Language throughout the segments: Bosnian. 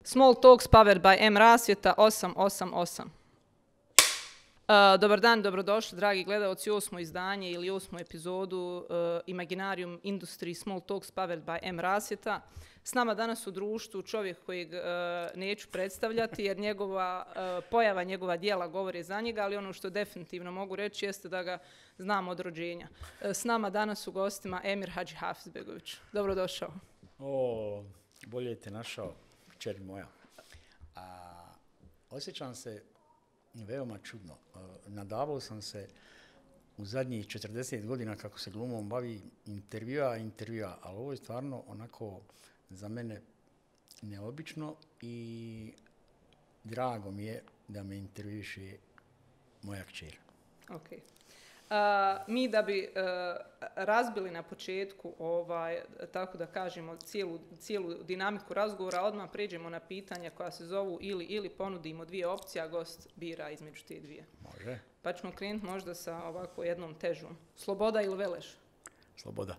Small Talks powered by M Rasvjeta 888. Dobar dan, dobrodošli, dragi gledalci, u 8. izdanje ili 8. epizodu Imaginarium Industry Small Talks powered by M Rasvjeta. S nama danas u društvu čovjek kojeg neću predstavljati jer njegova pojava, njegova djela govore za njega, ali ono što definitivno mogu reći jeste da ga znam od rođenja. S nama danas u gostima Emir Hadžihafizbegović. Dobrodošao. Bolje te našao, kćeri moja. Osjećam se veoma čudno. Nadavao sam se u zadnjih 40 godina kako se glumom bavi intervjua, ali ovo je stvarno onako za mene neobično i drago mi je da me intervjuše moja kćer. Okay. Mi da bi razbili na početku, tako da kažemo, cijelu dinamiku razgovora, odmah pređemo na pitanja koja se zovu ili ponudimo dvije opcije, a gost bira između te dvije. Može. Pa ćemo krenuti možda sa ovako jednom težom. Sloboda ili Veleš? Sloboda.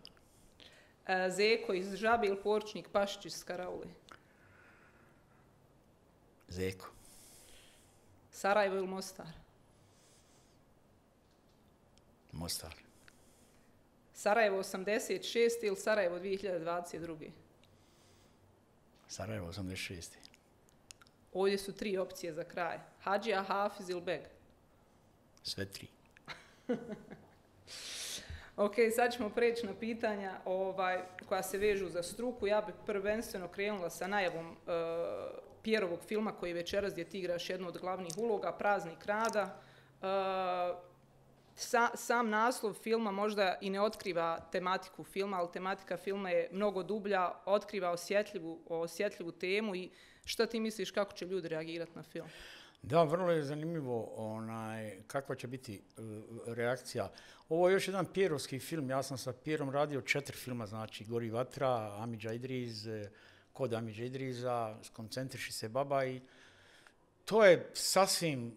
Zeko iz Žabe ili Porčnik Pašić iz Skarauli? Zeko. Sarajevo ili Mostar? Mostar. Sarajevo 86 ili Sarajevo 2022? Sarajevo 86. Ovdje su tri opcije za kraj. Hadžija, Hafiz ili Beg? Sve tri. Ok, sad ćemo preći na pitanja koja se vežu za struku. Ja bih prvenstveno krenula sa najavom Pjerovog filma koji večeras gdje ti igraš jednu od glavnih uloga, Praznik rada. Sam naslov filma možda i ne otkriva tematiku filma, ali tematika filma je mnogo dublja, otkriva osjetljivu temu i šta ti misliš kako će ljudi reagirati na film? Da, vrlo je zanimljivo kakva će biti reakcija. Ovo je još jedan Pjerovski film, ja sam sa Pjerom radio 4 filma, znači Gori vatra, Amidža Idriz, Kod Amidža Idriza, Skoncentriši se baba i to je sasvim,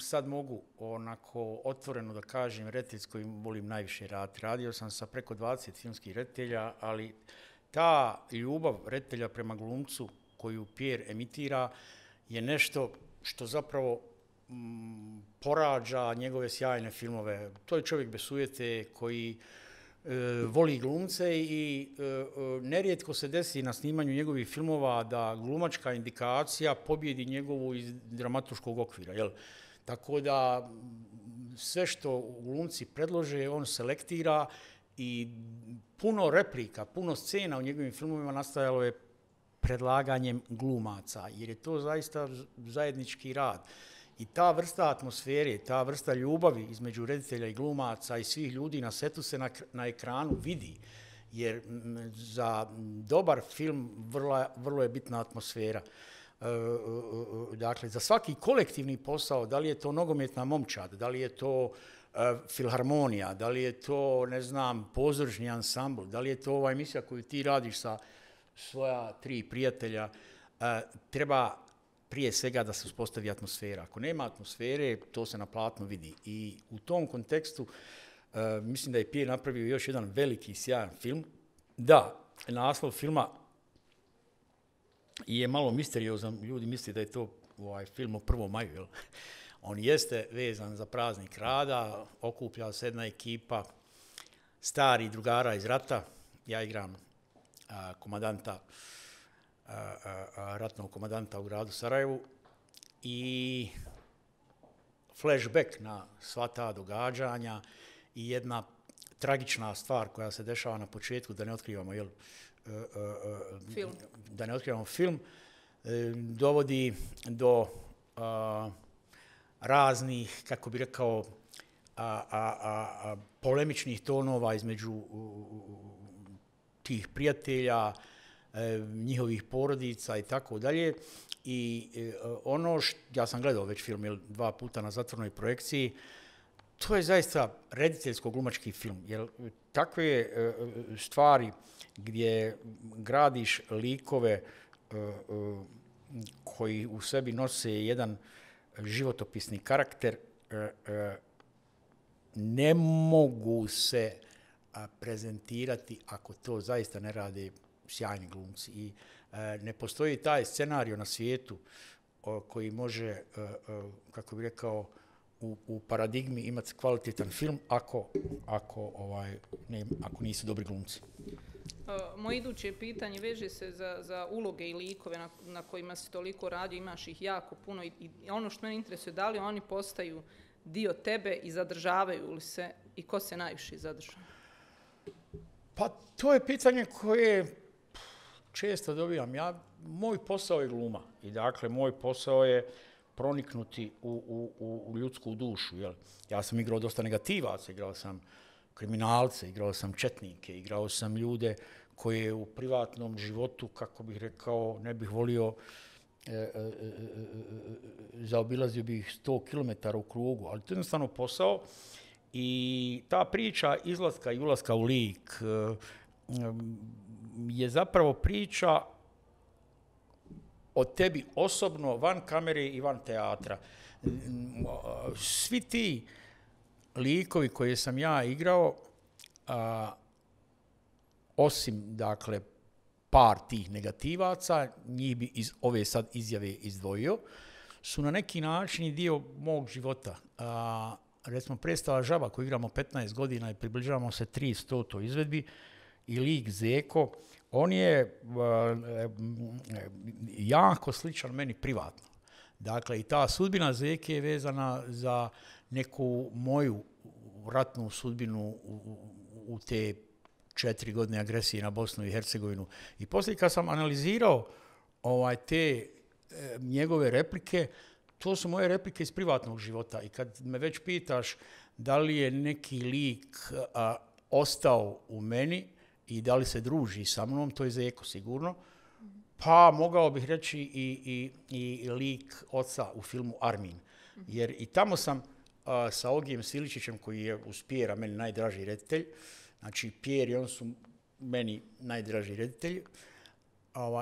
sad mogu onako otvoreno da kažem, reditelj s kojim volim najviše raditi. Radio sam sa preko 20 filmskih reditelja, ali ta ljubav reditelja prema glumcu koju Pjer emitira je nešto što zapravo porađa njegove sjajne filmove. To je čovjek bez sujete koji voli glumce i nerijetko se desi na snimanju njegovih filmova da glumačka indikacija pobjedi njegovu iz dramaturškog okvira. Jel? Tako da sve što glumci predlože, on selektira i puno replika, puno scena u njegovim filmovima nastajalo je predlaganjem glumaca, jer je to zaista zajednički rad. I ta vrsta atmosfere, ta vrsta ljubavi između reditelja i glumaca i svih ljudi na setu se na ekranu vidi, jer za dobar film vrlo je bitna atmosfera. Dakle, za svaki kolektivni posao, da li je to nogometna momčad, da li je to filharmonija, da li je to, ne znam, pozorišni ansambl, da li je to ova emisija koju ti radiš sa svoja 3 prijatelja, treba prije svega da se uspostavi atmosfera. Ako nema atmosfere, to se na platnu vidi. I u tom kontekstu mislim da je Pjer napravio još jedan veliki, sjajan film. Da, naslov filma je malo misteriozan. Ljudi misle da je to film o 1. maju. Jel? On jeste vezan za Praznik rada, okuplja se jedna ekipa starih drugara iz rata. Ja igram ratnog komandanta u gradu Sarajevu i flashback na sva ta događanja i jedna tragična stvar koja se dešava na početku, da ne otkrivamo film, dovodi do raznih, kako bi rekao, polemičnih tonova između tih prijatelja, njihovih porodica i tako dalje. I ja sam gledao već film 2 puta na zatvornoj projekciji, to je zaista rediteljsko-glumački film, jer takve stvari gdje gradiš likove koji u sebi nose jedan životopisni karakter, ne mogu se prezentirati ako to zaista ne rade sjajni glumci i ne postoji taj scenario na svijetu koji može, kako bih rekao, u paradigmi imati kvalitetan film ako nisu dobri glumci. Moje iduće pitanje veže se za uloge i likove na kojima si toliko radio, imaš ih jako puno i ono što mene interesuje, da li oni postaju dio tebe i zadržavaju li se i ko se najviše zadržava? Pa to je pitanje koje često dobijam. Moj posao je gluma i dakle moj posao je proniknuti u ljudsku dušu. Jel? Ja sam igrao dosta negativaca, igrao sam kriminalce, igrao sam četnike, igrao sam ljude koje u privatnom životu, kako bih rekao, ne bih volio, zaobilazio bih 100 km u krugu, ali to je jednostavno posao i ta priča izlaska i ulaska u lik je zapravo priča o tebi osobno, van kamere i van teatra. Svi ti likovi koje sam ja igrao, osim, dakle, par tih negativaca, njih bi iz ove sad izjave izdvojio, su na neki način dio mog života. Recimo, predstava Žaba koju igramo 15 godina i približavamo se 300. izvedbi i lik Zeko, on je jako sličan meni privatno. Dakle, i ta sudbina Zeke je vezana za neku moju ratnu sudbinu u te 4 godine agresije na Bosnu i Hercegovinu. I poslije kad sam analizirao te njegove replike, to su moje replike iz privatnog života. I kad me već pitaš da li je neki lik ostao u meni i da li se druži sa mnom, to je Zeko sigurno. Pa mogao bih reći i lik oca u filmu Armin. Jer i tamo sam sa Ogijem Siličićem, koji je uz Pjera meni najdraži reditelj, znači Pjer i on su meni najdraži reditelji,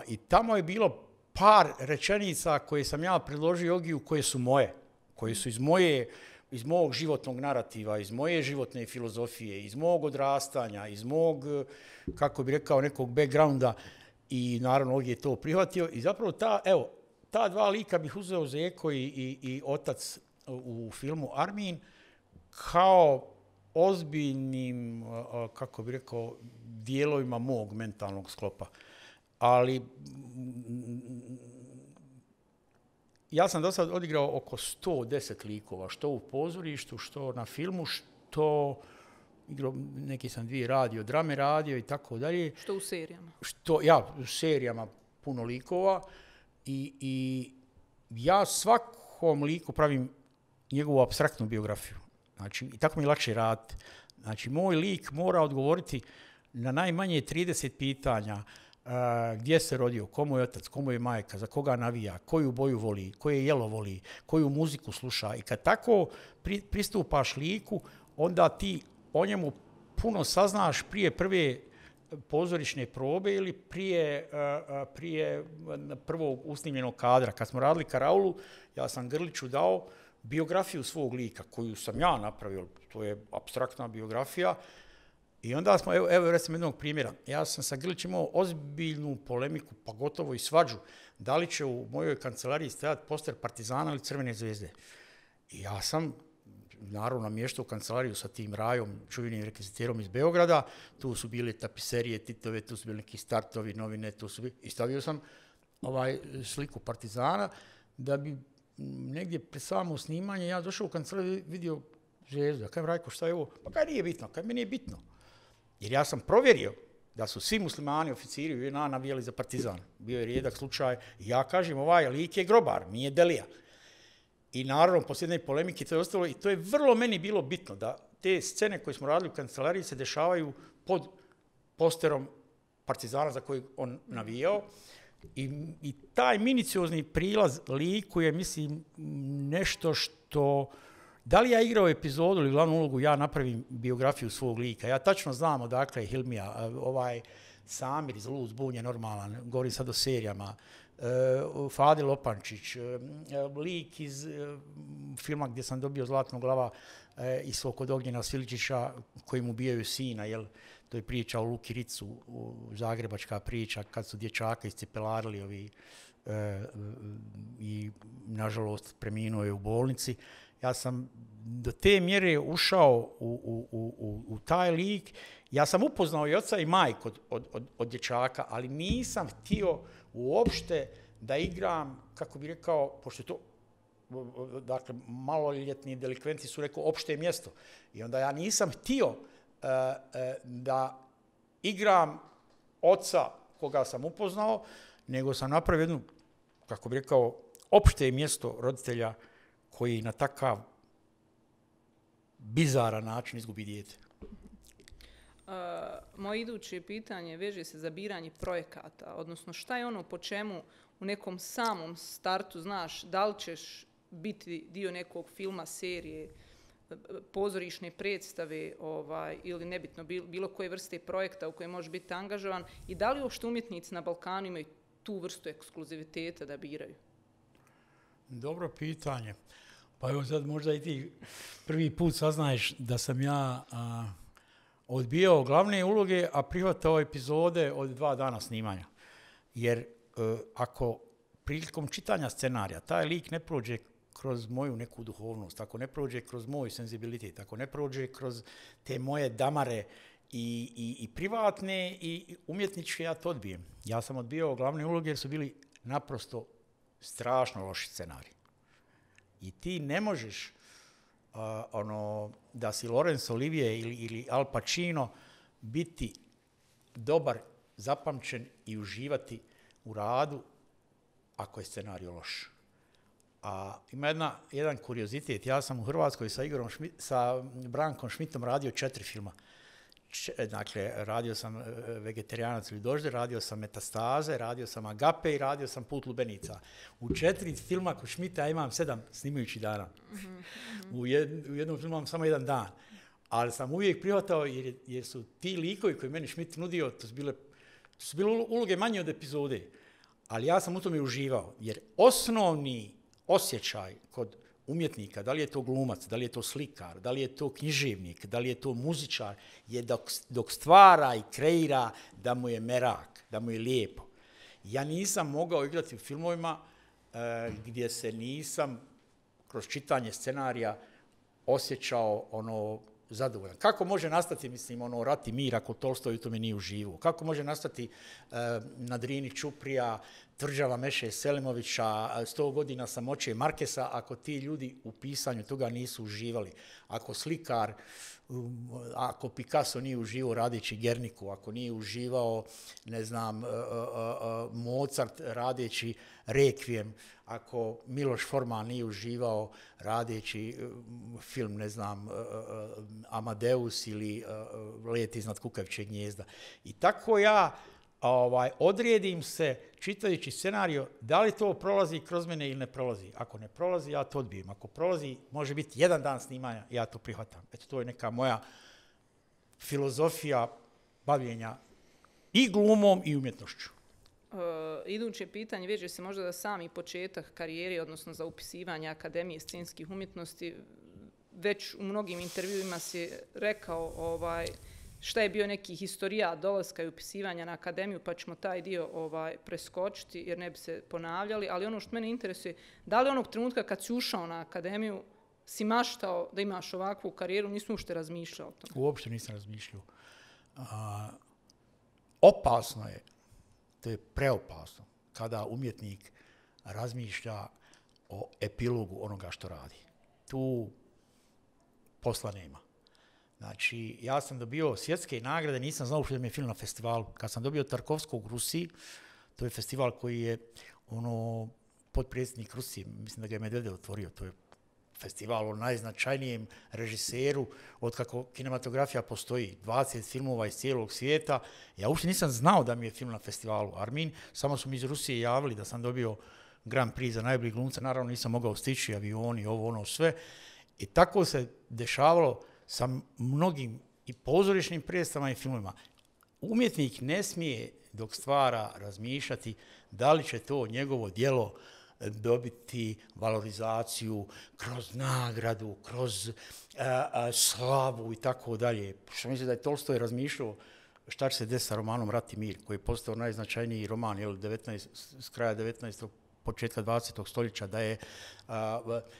i tamo je bilo par rečenica koje sam ja predložio Ogiju, koje su moje, koje su iz mog životnog narativa, iz moje životne filozofije, iz mog odrastanja, iz mog, kako bi rekao, nekog backgrounda, i naravno Ogi je to prihvatio. I zapravo ta dva lika bih uzeo, Zeko i otac u filmu Armin, kao ozbiljnim, kako bi rekao, dijelovima mog mentalnog sklopa. Ali ja sam do sad odigrao oko 110 likova, što u pozorištu, što na filmu, što igrao, neki sam 2 radio, drame radio i tako dalje. Što u serijama? U serijama puno likova i ja svakom liku pravim njegovu apstraktnu biografiju. Znači, i tako mi je lakše raditi. Znači, moj lik mora odgovoriti na najmanje 30 pitanja. Gdje se rodio, komu je otac, komu je majka, za koga navija, koju boju voli, koje jelo voli, koju muziku sluša. I kad tako pristupaš liku, onda ti o njemu puno saznaš prije prve pozorišne probe ili prije prvog usnimljenog kadra. Kad smo radili Karaulu, ja sam Grliću dao biografiju svog lika, koju sam ja napravio, to je apstraktna biografija. I onda smo, evo recimo jednog primjera, ja sam sa Grlićem imao ozbiljnu polemiku, pa gotovo i svađu, da li će u mojoj kancelariji stajati poster Partizana ili Crvene zvezde. I ja sam naravno namještao kancelariju sa tim Rajom, čuvenim rekviziterom iz Beograda, tu su bile tapiserije Titove, tu su bili neki startovi, novine, i stavio sam sliku Partizana, da bi negdje pred samo snimanje ja došao u kancelariju, vidio zvezdu. Ja kažem, Rajko, šta je ovo? Pa kaj nije bitno? Kaj meni je bitno? Jer ja sam provjerio da su svi muslimani, oficiri u JNA navijali za Partizan. Bio je rijedak slučaj. I ja kažem, ovaj lik je grobar, nije Delija. I naravno, poslije jedne polemike to je ostalo. I to je vrlo meni bilo bitno, da te scene koje smo radili u kancelariji se dešavaju pod posterom Partizana za kojeg on navijao. I taj minuciozni prilaz liku je, mislim, nešto što... Da li ja igrao epizodu ili glavnu ulogu, ja napravim biografiju svog lika. Ja tačno znam odakle je Hilmija, Samir iz Luz, Bunje, normalan, govorim sad o serijama, Fadil Lopančić, lik iz filma gdje sam dobio Zlatnog lava iz svog kod Ognjena Sviličića koji mu ubijaju sina, jel? To je priča o Luki Ricu, zagrebačka priča, kad su dječaka iscipelarili i nažalost preminuo je u bolnici. Ja sam do te mjere ušao u taj lik. Ja sam upoznao i oca i majku od dječaka, ali nisam htio uopšte da igram, kako bih rekao, pošto je to, dakle, maloljetni delikventi su rekao opšte mjesto. I onda ja nisam htio da igram oca koga sam upoznao, nego sam napravio jednu, kako bih rekao, opšte mjesto roditelja koji na takav bizaran način izgubi dijete. Moje iduće pitanje veže se za biranje projekata, odnosno šta je ono po čemu u nekom samom startu znaš da li ćeš biti dio nekog filma, serije, pozorišne predstave ili nebitno bilo koje vrste projekta u kojem možeš biti angažovan i da li uopšte umjetnici na Balkanu imaju tu vrstu ekskluziviteta da biraju? Dobro pitanje. Pa evo sad možda i ti prvi put saznaješ da sam ja odbijao glavne uloge, a prihvatao epizode od 2 dana snimanja. Jer ako prilikom čitanja scenarija taj lik ne prođe kroz moju neku duhovnost, ako ne prođe kroz moj senzibilitet, ako ne prođe kroz te moje damare i privatne i umjetničke, ja to odbijem. Ja sam odbijao glavne uloge jer su bili naprosto strašno loši scenariji. I ti ne možeš da si Laurence Olivier ili Al Pacino biti dobar, zapamćen i uživati u radu ako je scenarij loš. A ima jedan kuriozitet. Ja sam u Hrvatskoj sa Brankom Šmitom radio 4 filma. Dakle, radio sam Vegetarijanac ili Dožde, radio sam Metastaze, radio sam Agape i radio sam Put lubenica. U 4 filma kod Šmita ja imam 7 snimajućih dana. U jednom filmu imam samo 1 dan. Ali sam uvijek prihvatao jer su ti likovi koji meni Šmit nudio, to su bile uloge manje od epizode. Ali ja sam u tome uživao. Jer osnovni osjećaj kod umjetnika, da li je to glumac, da li je to slikar, da li je to književnik, da li je to muzičar, je dok stvara i kreira da mu je merak, da mu je lijepo. Ja nisam mogao igrati u filmovima gdje se nisam kroz čitanje scenarija osjećao zadovoljan. Kako može nastati, Rat i mir ako Tolstoj u tome nije uživo? Kako može nastati Na Drini Čuprija, Tvrđava Meše Selimovića, 100 godina samoće Markesa, ako ti ljudi u pisanju toga nisu uživali? Ako slikar, ako Picasso nije uživao radeći Gerniku, ako nije uživao, ne znam, Mozart radeći Requiem, ako Miloš Forman nije uživao radeći film, ne znam, Amadeus ili Let iznad kukavičjeg gnijezda. I tako ja odredim se, čitajući scenario, da li to prolazi kroz mene ili ne prolazi. Ako ne prolazi, ja to odbijem. Ako prolazi, može biti 1 dan snimanja, ja to prihvatam. Eto, to je neka moja filozofija bavljenja i glumom i umjetnošću. Iduće pitanje veže se možda za sami početak karijere, odnosno za upisivanje Akademije scenskih umjetnosti. Već u mnogim intervjuima si rekao šta je bio neki historijat dolaska i upisivanja na akademiju, pa ćemo taj dio preskočiti jer ne bi se ponavljali, ali ono što mene interesuje, da li onog trenutka kad si ušao na akademiju si maštao da imaš ovakvu karijeru, nisam uopšte razmišljao o tome? Uopšte nisam razmišljao. Opasno je, to je preopasno, kada umjetnik razmišlja o epilogu onoga što radi. Tu posla nema. Znači, ja sam dobio svjetske nagrade, nisam znao što da mi je film na festivalu. Kad sam dobio Tarkovskog u Rusiji, to je festival koji je potpredsjednik Rusije, mislim da ga je Medvedev otvorio, to je festival o najznačajnijem režiseru od kako kinematografija postoji, 20 filmova iz cijelog svijeta. Ja uopšte nisam znao da mi je film na festivalu Armin, samo su mi iz Rusije javili da sam dobio Grand Prix za najbolji glumca, naravno nisam mogao stići, avioni, sve. I tako se dešavalo sa mnogim i pozorišnim predstavama i filmovima. Umjetnik ne smije dok stvara razmišljati da li će to njegovo djelo dobiti valorizaciju kroz nagradu, kroz slavu i tako dalje. Što mislim da je Tolstoj razmišljao šta će se desiti sa romanom Rat i mir, koji je postao najznačajniji roman s kraja 19. početka 20. stoljeća,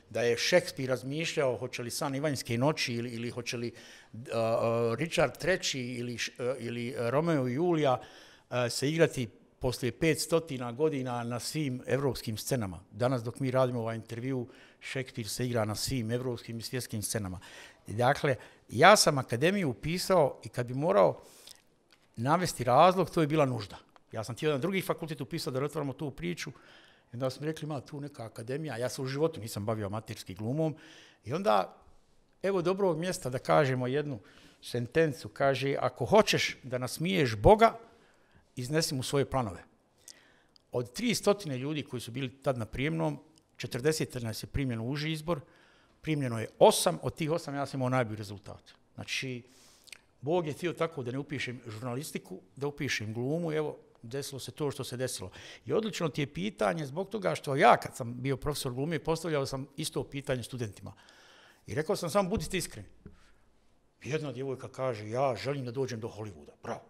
da je Šekspir razmišljao hoće li San Ivanjske noći ili hoće li Richard III ili Romeo i Julija se igrati poslije 500 godina na svim evropskim scenama. Danas dok mi radimo ovaj intervju, Šekspir se igra na svim evropskim i svjetskim scenama. Dakle, ja sam akademiju upisao i kad bi morao navesti razlog, to je bila nužda. Ja sam htio na drugi fakultet upisao da otvaramo tu priču. I onda smo rekli, ima tu neka akademija. Ja se u životu nisam bavio amaterski glumom. I onda, evo dobrog mjesta da kažemo jednu sentencu. Kaže, ako hoćeš da nasmiješ Boga, iznesi mu svoje planove. Od 300 ljudi koji su bili tad na prijemnom, 40 nas je primljeno u uži izbor, primljeno je 8, od tih 8 ja sam imao najbolji rezultat. Znači, Bog je htio tako da ne upišem žurnalistiku, da upišem glumu, evo, desilo se to što se desilo. I odlično ti je pitanje zbog toga što ja kad sam bio profesor glume postavljao sam isto pitanje studentima. I rekao sam samo budite iskreni. Jedna djevojka kaže ja želim da dođem do Hollywooda. Bravo.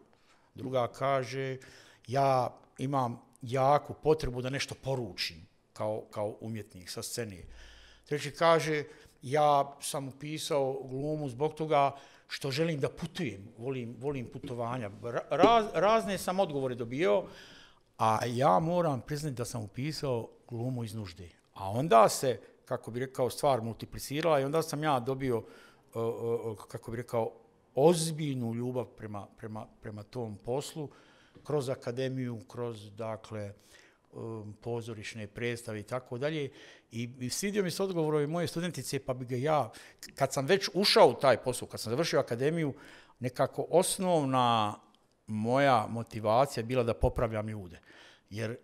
Druga kaže ja imam jaku potrebu da nešto poručim kao umjetnik sa scene. Treći kaže ja sam upisao glumu zbog toga što želim da putujem, volim putovanja. Razne sam odgovore dobio, a ja moram priznati da sam upisao glumu iz nužde. A onda se, kako bi rekao, stvar multiplicirala i onda sam ja dobio, kako bi rekao, ozbiljnu ljubav prema tom poslu, kroz akademiju, kroz, dakle, pozorišne predstave i tako dalje. I svidio mi se odgovorovi moje studentice, pa bi ga ja, kad sam već ušao u taj posao, kad sam završio akademiju, nekako osnovna moja motivacija bila da popravljam ljude. Jer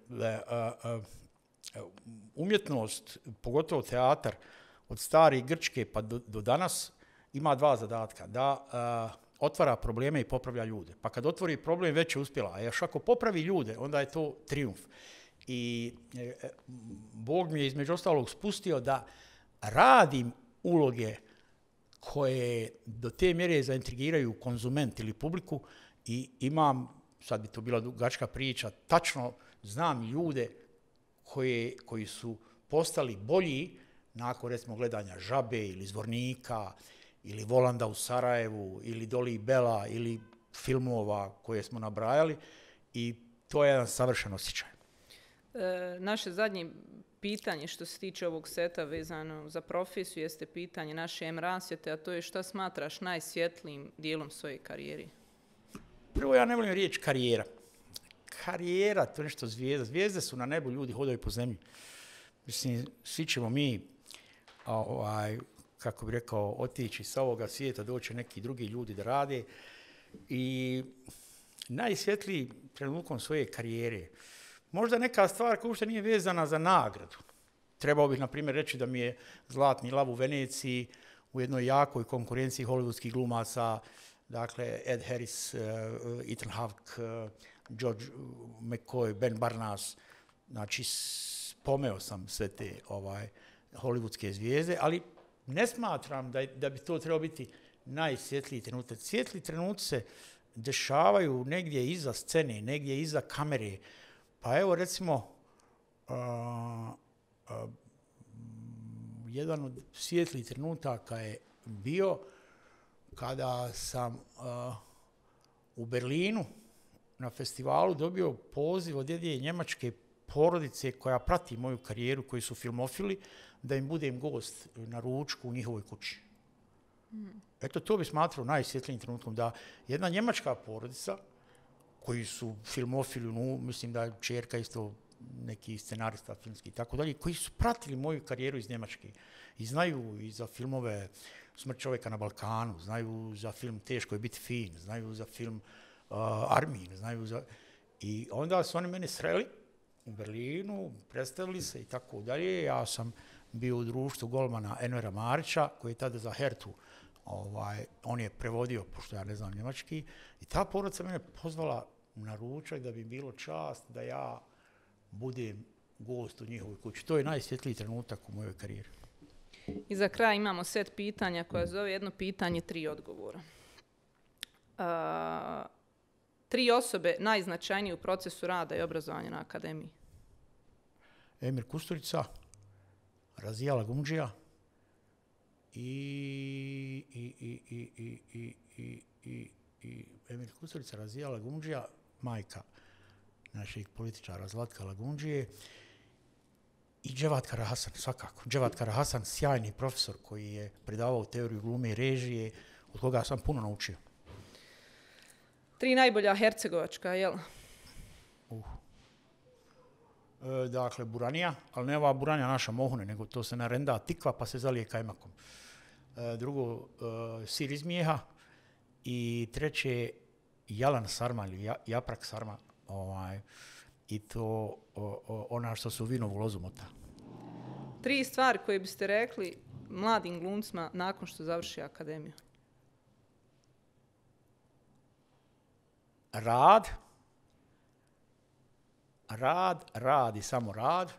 umjetnost, pogotovo teatar, od stare Grčke pa do danas, ima dva zadatka. Da otvara probleme i popravlja ljude. Pa kad otvori problem, već je uspjela. A još ako popravi ljude, onda je to trijumf. I Bog mi je između ostalog spustio da radim uloge koje do te mjere zaintrigiraju konzument ili publiku i imam, sad bi to bila dugačka priča, tačno znam ljude koji su postali bolji nakon recimo gledanja Žabe ili Zvornika ili Volanda u Sarajevu ili Doli i Bela ili filmova koje smo nabrajali i to je jedan savršen osjećaj. Naše zadnje pitanje što se tiče ovog seta vezano za profesiju jeste pitanje naše M-rasvjete, a to je šta smatraš najsvjetlijim dijelom svoje karijere? Prvo, ja ne volim riječ karijera. Karijera, to je nešto zvijezda. Zvijezde su na nebu, ljudi hodaju po zemlji. Mislim, svi ćemo mi, kako bi rekao, otići sa ovoga svijeta, doći neki drugi ljudi da rade. I najsvjetliji trenutkom svoje karijere, možda neka stvar koja uopšte nije vezana za nagradu. Trebao bih, na primjer, reći da mi je Zlatni lav u Veneciji u jednoj jakoj konkurenciji hollywoodskih glumaca, dakle Ed Harris, Ethan Hawke, George McCoy, Ben Barnas, znači spomeo sam sve te hollywoodske zvijezde, ali ne smatram da bi to trebalo biti najsvjetliji trenutak. Svjetli trenuci se dešavaju negdje iza scene, negdje iza kamere. Pa evo recimo, jedan od svijetlih trenutaka je bio kada sam u Berlinu na festivalu dobio poziv od jedne njemačke porodice koja prati moju karijeru, koji su filmofili, da im budem gost na ručku u njihovoj kući. Eto, to bi smatrao najsvjetlijim trenutkom, da jedna njemačka porodica, koji su filmofili, mislim da je čerka isto neki scenarista filmski i tako dalje, koji su pratili moju karijeru iz Njemačke i znaju i za filmove Smrt čovjeka na Balkanu, znaju za film Teško je biti fin, znaju za film Armin, znaju za... I onda su oni mene sreli u Berlinu, predstavili se i tako dalje. Ja sam bio u društvu golmana Envera Marića, koji je tada za Hertu, on je prevodio, pošto ja ne znam njemački, i ta porodica mene pozvala na ručak da bi bilo čast da ja budem gost u njihovoj kući. To je najsvjetliji trenutak u mojoj karijeri. I za kraj imamo set pitanja koja zove jedno pitanje, 3 odgovora. 3 osobe najznačajnije u procesu rada i obrazovanja na akademiji. Emir Kusturica, Razija Lagundžija i Emir Kusturica, Razija Lagundžija, majka naših političara Zlatka Lagundžije i Dževat Karahasan, svakako. Dževat Karahasan, sjajni profesor koji je predavao teoriju glume i režije, od koga sam puno naučio. 3 najbolja hercegovačka, jel? Dakle, buranija, ali ne ova buranija naša mohune, nego to se narenda tikva pa se zalije kajmakom. Drugo, sir iz mijeha i treće, jalan sarma ili japrak sarma, i to ona što su vinovu lozu mota. 3 stvari koje biste rekli mladim glumcima nakon što završi akademiju. Rad i samo rad,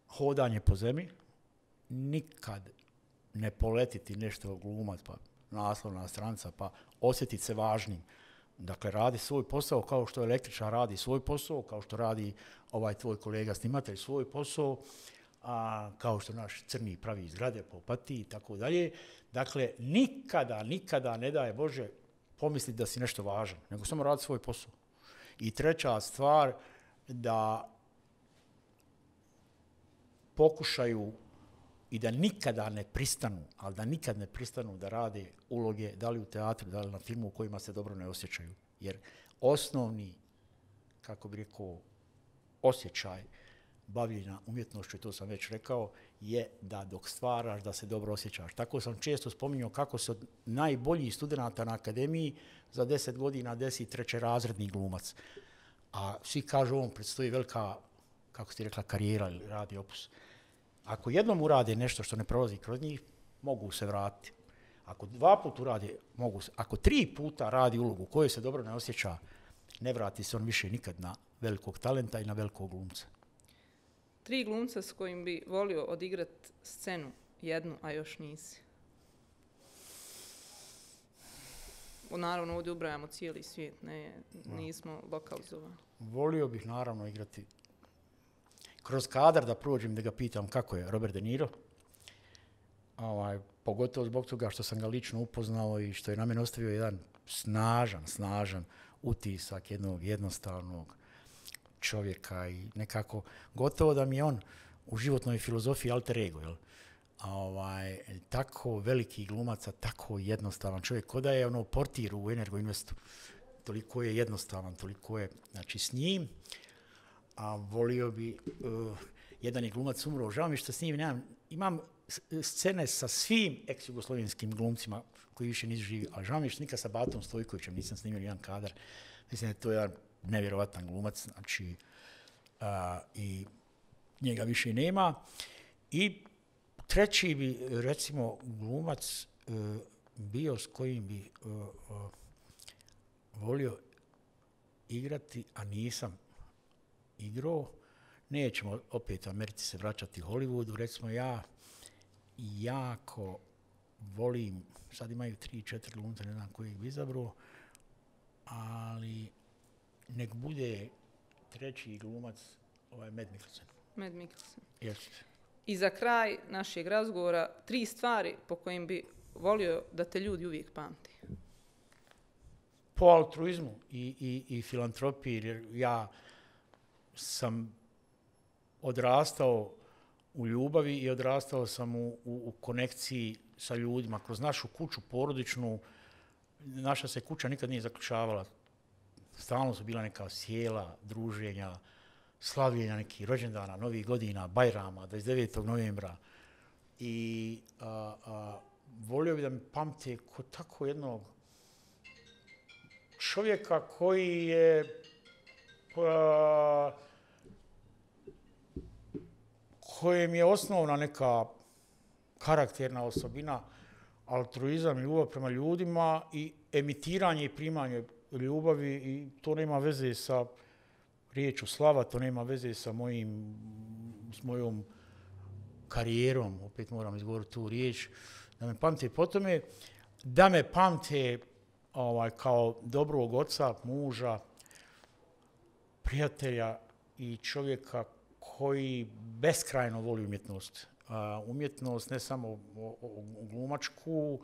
hodanje po zemlji, nikad ne poletiti nešto glumac, pa naslovna stranica, pa osjetiti se važnim. Dakle, radi svoj posao kao što električar radi svoj posao, kao što radi ovaj tvoj kolega snimatelj svoj posao, kao što naš crni pravi zgrade po Opatiji i tako dalje. Dakle, nikada ne daje Bože pomisliti da si nešto važan, nego samo radi svoj posao. I treća stvar, da pokušaju i da nikada ne pristanu, ali da nikad ne pristanu da rade uloge, da li u teatru, da li na filmu u kojima se dobro ne osjećaju. Jer osnovni, kako bi rekao, osjećaj bavljenja umjetnošću, to sam već rekao, je da dok stvaraš, da se dobro osjećaš. Tako sam često spominjao kako se od najboljih studenata na akademiji za 10 godina desi trećerazredni glumac. A svi kažu ovom predstoji velika, kako ste rekla, karijera ili radi opus. Ako jednom urade nešto što ne prolazi kroz njih, mogu se vratiti. Ako 2 puta urade, mogu se. Ako 3 puta radi ulogu koju se dobro ne osjeća, ne vrati se on više nikad na velikog talenta i na velikog glumca. 3 glumca s kojim bi volio odigrati scenu jednu, a još nisi. Naravno, ovdje ubrajamo cijeli svijet, nismo lokalizovani. Volio bih naravno igrati kroz kadar da prođem da ga pitam kako je Robert De Niro. Pogotovo zbog toga što sam ga lično upoznao i što je na mene ostavio jedan snažan utisak jednog jednostavnog čovjeka i nekako gotovo da mi je on u životnoj filozofiji alter ego. Jel? Tako veliki glumaca, tako jednostavan čovjek, ko da je portir u Energo Investu. Toliko je jednostavan, toliko je, znači s njim, a volio bi, jedan je glumac umro, žao mi što s njim imam scene sa svim ex-jugoslovenskim glumcima koji više nisu živi, ali žao mi što nikad sa Batom Stojkovićem nisam snimio jedan kadar. Mislim da je to jedan nevjerovatan glumac, znači i njega više nema. I treći bi, recimo, glumac bio s kojim bi volio igrati, a nisam igrao. Nećemo opet u Americi se vraćati u Hollywoodu. Recimo, ja jako volim, sad imaju 3-4 glumca, ne znam kojeg bi izabrao, ali nek bude treći glumac Mad Mikkelsen. Mad Mikkelsen. Jeste. I za kraj našeg razgovora, 3 stvari po kojim bi volio da te ljudi uvijek pamti. Po altruizmu i filantropiji, jer ja sam odrastao u ljubavi i odrastao sam u konekciji sa ljudima. Kroz našu kuću porodičnu, naša se kuća nikad nije zaključavala. Stalno su bila neka sjela, druženja, slavljenja nekih rođendana, novih godina, Bajrama, 29. novembra. I volio bi da mi pamte kod tako jednog čovjeka koji je kojem je osnovna neka karakterna osobina altruizam i ljubav prema ljudima i emitiranje i primanje ljubavi, i to nema veze sa riječu slava, to nema veze sa mojom karijerom, opet moram izgovoriti tu riječ, da me pamte po tome, da me pamte kao dobrog oca, muža, prijatelja i čovjeka koji beskrajno voli umjetnost. Umjetnost ne samo glumačku,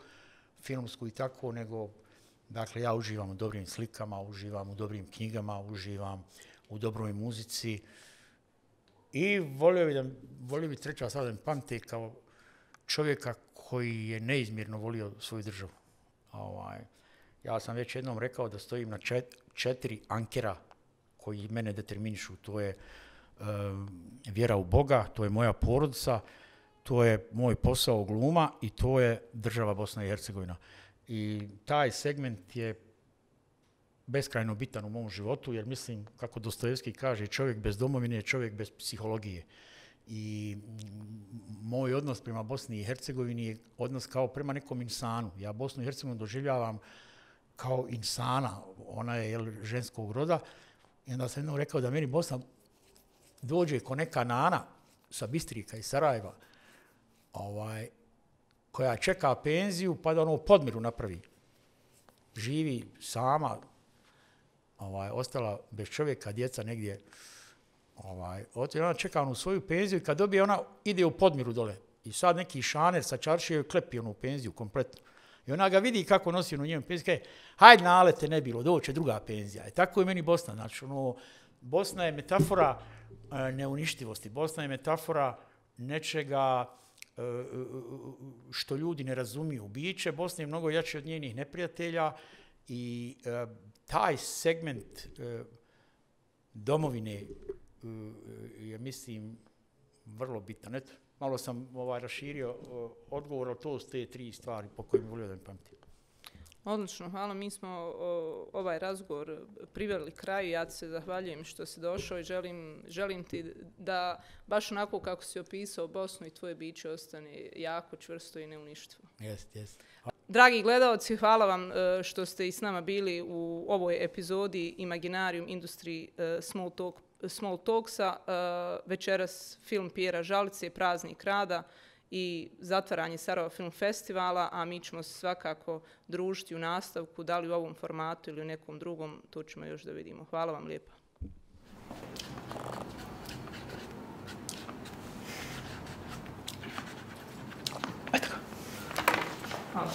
filmsku i tako, nego dakle ja uživam u dobrim slikama, uživam u dobrim knjigama, uživam u dobroj muzici i volio bi treća sada pamte kao čovjeka koji je neizmjerno volio svoju državu. Ja sam već jednom rekao da stojim na 4 ankera koji mene determinišu. To je vjera u Boga, to je moja porodica, to je moj posao gluma i to je država Bosna i Hercegovina. I taj segment je beskrajno bitan u mom životu, jer mislim, kako Dostojevski kaže, čovjek bez domovine je čovjek bez psihologije. I moj odnos prema Bosni i Hercegovini je odnos kao prema nekom insanu. Ja Bosnu i Hercegovinu doživljavam kao insana, ona je ženskog roda. I onda sam jednom rekao da meni Bosna dođe ko neka nana sa Bistrika i Sarajeva, koja čeka penziju pa da podmiru napravi. Živi sama, ostala bez čovjeka, djeca negdje. Ona čeka onu svoju penziju i kad dobije ona ide u podmiru dole. I sad neki šaner sa čaršije klepi onu penziju kompletno. I ona ga vidi kako nosi onu njenu penziju. Kaže, hajde nalete ne bilo, doće druga penzija. I tako je meni Bosna. Znači, Bosna je metafora neuništivosti. Bosna je metafora nečega što ljudi ne razumiju. Biće Bosna je mnogo jače od njenih neprijatelja i taj segment domovine je, mislim, vrlo bitan. Eto, malo sam raširio odgovor, ali to su te 3 stvari po kojim volio da mi pamtim. Odlično, hvala. Mi smo ovaj razgovor priveli kraju. Ja ti se zahvaljujem što si došao i želim ti da baš onako kako si opisao Bosnu i tvoje biće ostane jako čvrsto i neuništivo. Jeste. Dragi gledalci, hvala vam što ste i s nama bili u ovoj epizodi Imaginarium Industry Small Talksa. Večeras film Pijera Žalice, Praznik rada i zatvaranje Sarajevo Film Festivala, a mi ćemo se svakako družiti u nastavku, da li u ovom formatu ili u nekom drugom, to ćemo još da vidimo. Hvala vam lijepa. Hvala.